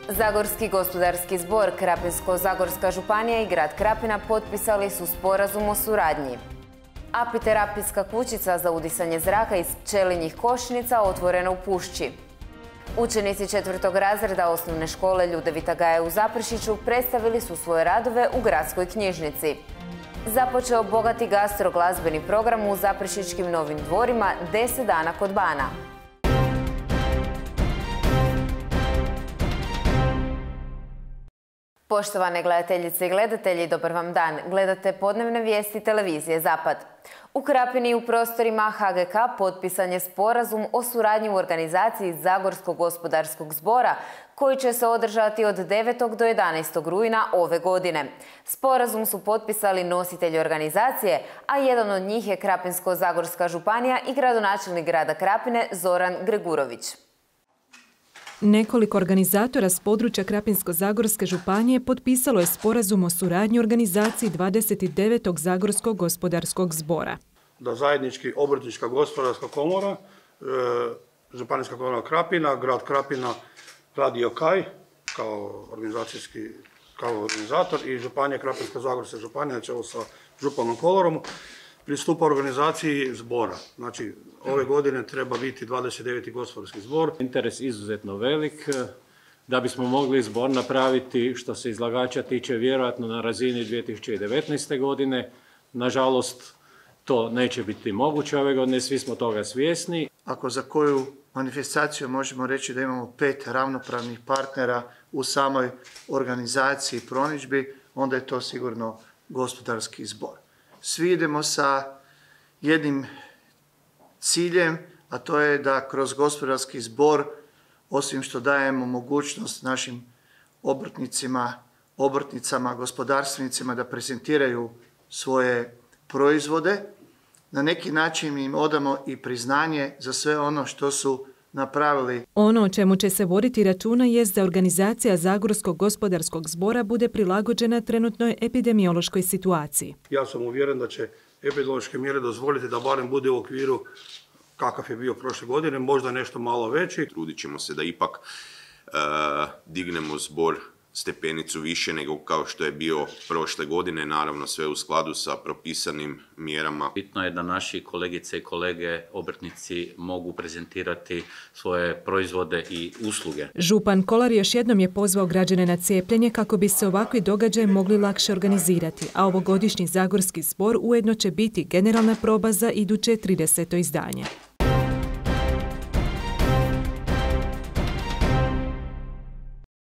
Zagorski gospodarski zbor, Krapinsko-zagorska županija i grad Krapina potpisali su sporazum o suradnji. Apiterapijska kućica za udisanje zraka iz pčelinjih košnica otvorena u Pušći. Učenici 4. razreda osnovne škole Ljudevita Gaja u Zaprešiću predstavili su svoje radove u gradskoj knjižnici. Započeo bogati gastro-glazbeni program u Zaprešićkim Novim dvorima 10 dana kod bana. Poštovane gledateljice i gledatelji, dobar vam dan. Gledate podnevne vijesti televizije Zapad. U Krapini u prostorima HGK potpisan je sporazum o suradnji u organizaciji Zagorskog gospodarskog zbora koji će se održati od 9. do 11. rujna ove godine. Sporazum su potpisali nositelji organizacije, a jedan od njih je Krapinsko-zagorska županija i gradonačelnik grada Krapine Zoran Gregurović. Nekoliko organizatora s područja Krapinsko-zagorske županije potpisalo je sporazum o suradnji u organizaciji 29. Zagorskog gospodarskog zbora. Da zajednički Obrtnička gospodarska komora, Županijska komora Krapina, grad Krapina, Radio Kaj kao organizator i županija Krapinsko-zagorska županija, čelo sa županom Kolorom, pristupa organizaciji zbora. Znači, ove godine treba biti 29. gospodarski zbor. Interes izuzetno velik. Da bismo mogli zbor napraviti, što se izlagača tiče, vjerojatno na razini 2019. godine. Nažalost, to neće biti moguće ove godine, svi smo toga svjesni. Ako za koju manifestaciju možemo reći da imamo 5 ravnopravnih partnera u samoj organizaciji promidžbi, onda je to sigurno gospodarski zbor. Svi idemo sa jednim ciljem, a to je da kroz gospodarski zbor, osim što dajemo mogućnost našim obrtnicama, gospodarstvenicima da prezentiraju svoje proizvode, na neki način im odamo i priznanje za sve ono što su napravili. Ono o čemu će se voditi računa jest da organizacija Zagorskog gospodarskog zbora bude prilagođena trenutnoj epidemiološkoj situaciji. Ja sam uvjeren da će epidemiološke mjere dozvoliti da barem bude u okviru kakav je bio prošle godine, možda nešto malo veći. Trudit ćemo se da ipak dignemo zbor stepenicu više nego kao što je bio prošle godine, naravno sve u skladu sa propisanim mjerama. Bitno je da naši kolegice i kolege obrtnici mogu prezentirati svoje proizvode i usluge. Župan Kolar još jednom je pozvao građane na cijepljenje kako bi se ovakvi događaji mogli lakše organizirati, a ovogodišnji Zagorski zbor ujedno će biti generalna proba za iduće 30. izdanje.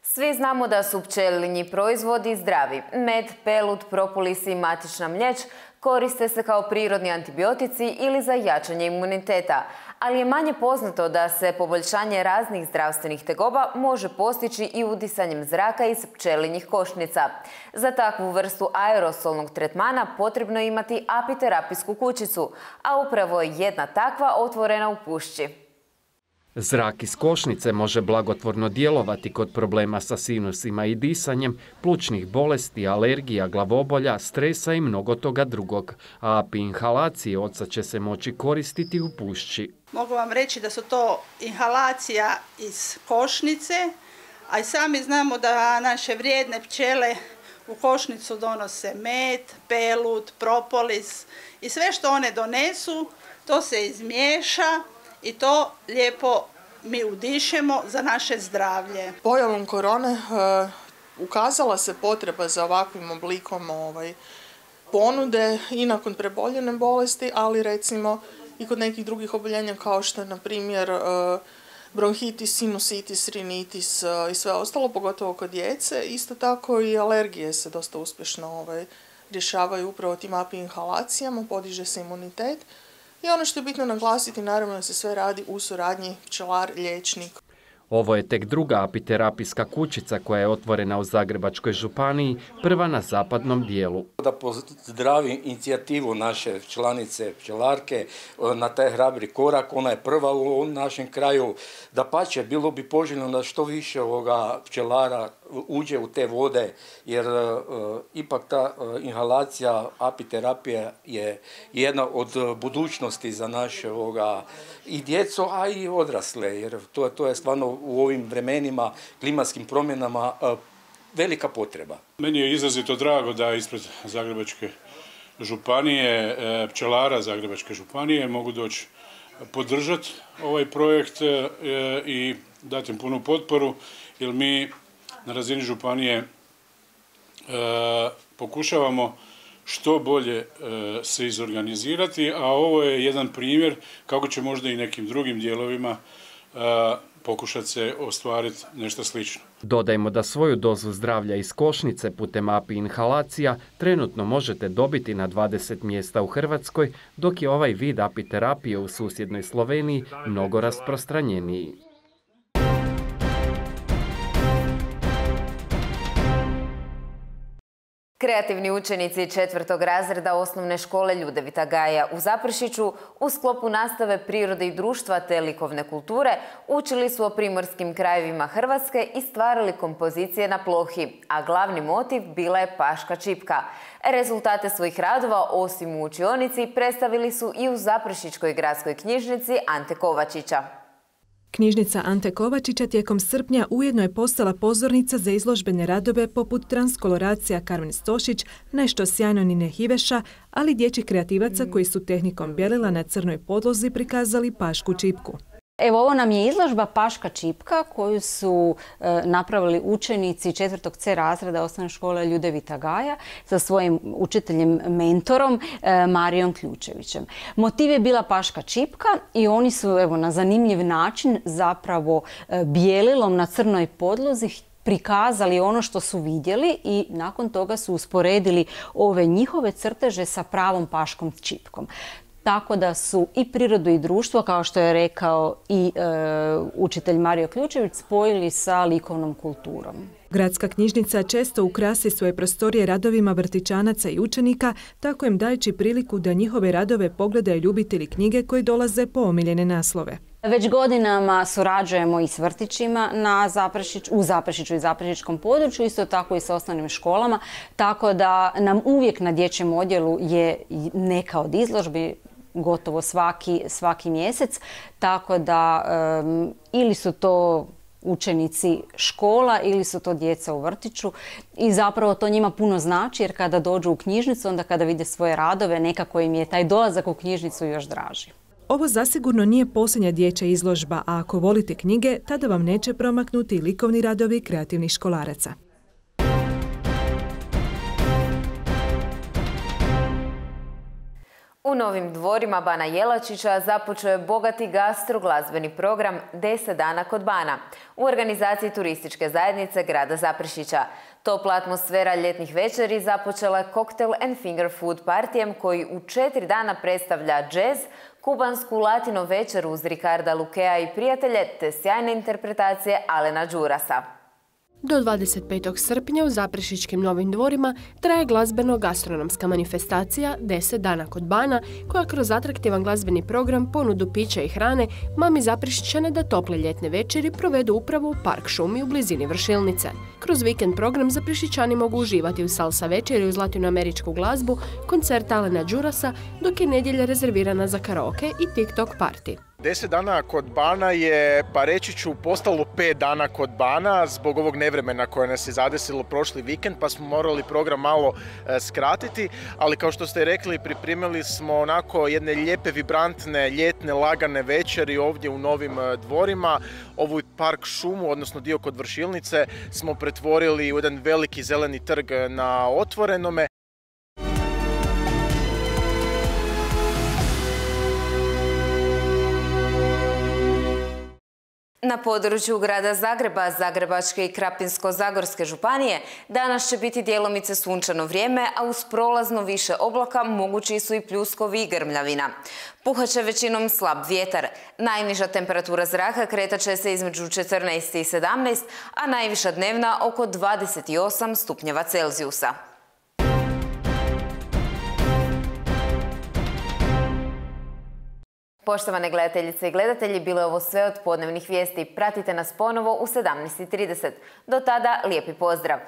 Svi znamo da su pčelinji proizvodi zdravi. Med, pelut, propolis i matična mlječ koriste se kao prirodni antibiotici ili za jačanje imuniteta, ali je manje poznato da se poboljšanje raznih zdravstvenih tegoba može postići i udisanjem zraka iz pčelinjih košnica. Za takvu vrstu aerosolnog tretmana potrebno je imati apiterapijsku kućicu, a upravo je jedna takva otvorena u Pušći. Zrak iz košnice može blagotvorno djelovati kod problema sa sinusima i disanjem, plućnih bolesti, alergija, glavobolja, stresa i mnogo toga drugog. A API inhalacije odsad će se moći koristiti u Pušći. Mogu vam reći da su to inhalacija iz košnice, a i sami znamo da naše vrijedne pčele u košnicu donose med, pelut, propolis i sve što one donesu, to se izmiješa i to lijepo mi udišemo za naše zdravlje. Pojavom korone ukazala se potreba za ovakvim oblikom ponude i nakon preboljene bolesti, ali recimo i kod nekih drugih oboljenja kao što je na primjer bronhitis, sinusitis, rinitis i sve ostalo, pogotovo kod djece. Isto tako i alergije se dosta uspješno rješavaju upravo tim API inhalacijama, podiže se imunitet. I ono što je bitno naglasiti, naravno da se sve radi u suradnji pčelar-liječnik. Ovo je tek druga apiterapijska kućica koja je otvorena u Zagrebačkoj županiji, prva na zapadnom dijelu. Da pozdravim inicijativu naše članice pčelarke na taj hrabri korak, ona je prva u našem kraju. Dapače, bilo bi poželjno da što više pčelara uđe u te vode, jer ipak ta inhalacija, apiterapija je jedna od budućnosti za naše i djecu, a i odrasle, jer to je stvarno u ovim vremenima, klimatskim promjenama velika potreba. Meni je izrazito drago da ispred Zagrebačke županije, pčelara Zagrebačke županije mogu doći podržati ovaj projekt i dati im punu potporu, jer mi na razini županije pokušavamo što bolje se izorganizirati, a ovo je jedan primjer kako će možda i nekim drugim dijelovima pokušati se ostvariti nešto slično. Dodajmo da svoju dozu zdravlja iz košnice putem API inhalacija trenutno možete dobiti na 20 mjesta u Hrvatskoj, dok je ovaj vid apiterapije u susjednoj Sloveniji mnogo rasprostranjeniji. Kreativni učenici 4. razreda osnovne škole Ljudevita Gaja u Zaprešiću u sklopu nastave prirode i društva te likovne kulture učili su o primorskim krajevima Hrvatske i stvarali kompozicije na plohi, a glavni motiv bila je paška čipka. Rezultate svojih radova, osim u učionici, predstavili su i u Zaprešićkoj gradskoj knjižnici Ante Kovačića. Knjižnica Ante Kovačića tijekom srpnja ujedno je postala pozornica za izložbene radove poput transkoloracija Karmen Stošić, Nešto sjajno Nine Hiveša, ali dječjih kreativaca koji su tehnikom bjelila na crnoj podlozi prikazali pašku čipku. Evo, ovo nam je izložba Paška čipka koju su napravili učenici 4. C razreda osnovne škole Ljudevita Gaja sa svojim učiteljem, mentorom Marijom Ključevićem. Motiv je bila paška čipka i oni su na zanimljiv način zapravo bijelilom na crnoj podlozi prikazali ono što su vidjeli i nakon toga su usporedili ove njihove crteže sa pravom paškom čipkom. Tako da su i prirodu i društvo, kao što je rekao i učitelj Mario Ključević, spojili sa likovnom kulturom. Gradska knjižnica često ukrasi svoje prostorije radovima vrtićanaca i učenika, tako im dajući priliku da njihove radove pogledaju ljubitelji knjige koji dolaze po omiljene naslove. Već godinama surađujemo i s vrtićima u Zaprešiću i Zaprešićkom području, isto tako i sa osnovnim školama, tako da nam uvijek na dječjem odjelu je neka od izložbi, gotovo svaki mjesec, tako da ili su to učenici škola ili su to djeca u vrtiću i zapravo to njima puno znači, jer kada dođu u knjižnicu, onda kada vide svoje radove, nekako im je taj dolazak u knjižnicu još draži. Ovo zasigurno nije posljednja dječja izložba, a ako volite knjige, tada vam neće promaknuti likovni radovi kreativnih školaraca. U Novim Dvorima Bana Jelačića započeo je bogati gastroglazbeni program 10 dana kod Bana u organizaciji turističke zajednice grada Zaprešića. Topla atmosfera ljetnih večeri započela je Cocktail and Finger Food partijem koji u 4 dana predstavlja džez, kubansku latino večeru uz Ricarda Lukea i prijatelje te sjajne interpretacije Alena Đurasa. Do 25. srpnja u Zaprešićkim Novim Dvorima traje glazbeno-gastronomska manifestacija 10 dana kod Bana, koja kroz atraktivan glazbeni program, ponudu pića i hrane mami Zaprešićane da tople ljetne večeri provedu upravo u Park šumi u blizini Vršilnice. Kroz vikend program Zaprešićani mogu uživati u salsa večeri uz latinoameričku glazbu, koncert Alena Đurasa, dok je nedjelja rezervirana za karaoke i TikTok party. 10 dana kod Bana je, pa reći ću, postalo 5 dana kod Bana zbog ovog nevremena koje nas je zadesilo prošli vikend, pa smo morali program malo skratiti, ali kao što ste rekli, pripremili smo onako jedne lijepe, vibrantne, ljetne, lagane večeri ovdje u Novim Dvorima. Ovu park šumu, odnosno dio kod Vršilnice, smo pretvorili u jedan veliki zeleni trg na otvorenome. Na području grada Zagreba, Zagrebačke i Krapinsko-zagorske županije danas će biti djelomice sunčano vrijeme, a uz prolazno više oblaka mogući su i pljuskovi i grmljavina. Puhat će većinom slab vjetar. Najniža temperatura zraka kretat će se između 14 i 17, a najviša dnevna oko 28 stupnjeva Celzijusa. Poštovane gledateljice i gledatelji, bilo je ovo sve od podnevnih vijesti. Pratite nas ponovo u 17:30. Do tada, lijepi pozdrav!